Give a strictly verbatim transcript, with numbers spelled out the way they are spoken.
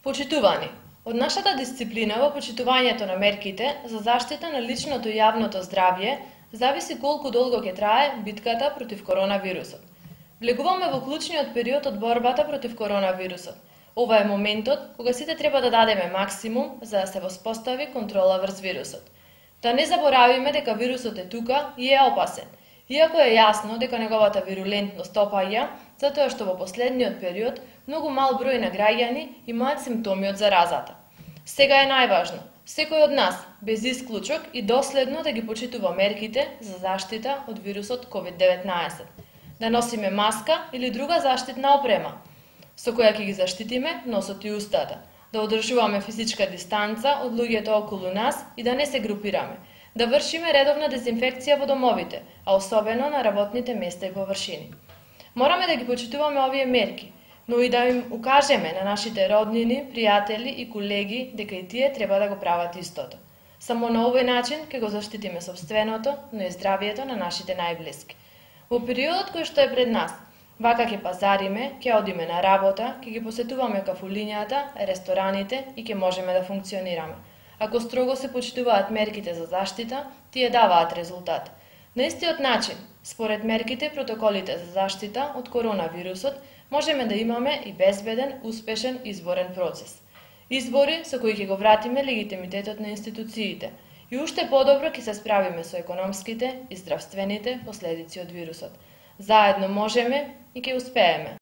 Почитувани, од нашата дисциплина во почитувањето на мерките за заштита на личното и јавното здравје зависи колку долго ќе трае битката против коронавирусот. Влегуваме во клучниот период од борбата против коронавирусот. Ова е моментот кога сите треба да дадеме максимум за да се воспостави контрола врз вирусот. Да не заборавиме дека вирусот е тука и е опасен, иако е јасно дека неговата вирулентност опаѓа, затоа што во последниот период многу мал број на граѓани имаат симптоми од заразата. Сега е најважно секој од нас, без исклучок и доследно да ги почитува мерките за заштита од вирусот ковид деветнаесет. Да носиме маска или друга заштитна опрема, со која ќе ги заштитиме носот и устата, да одржуваме физичка дистанца од луѓето околу нас и да не се групираме, да вршиме редовна дезинфекција во домовите, а особено на работните места и површини. Мораме да ги почитуваме овие мерки, но и да им укажеме на нашите роднини, пријатели и колеги дека и тие треба да го прават истото. Само на овој начин ќе го заштитиме сопственото, но и здравието на нашите најблиски. Во периодот кој што е пред нас, вака ќе пазариме, ќе одиме на работа, ќе ги посетуваме кафулињата, рестораните и ќе можеме да функционираме. Ако строго се почитуваат мерките за заштита, тие даваат резултат. На истиот начин, според мерките и протоколите за заштита од коронавирусот, можеме да имаме и безбеден, успешен изборен процес. Избори со кои ќе го вратиме легитимитетот на институциите и уште подобро ќе се справиме со економските и здравствените последици од вирусот. Заедно можеме и ќе успееме.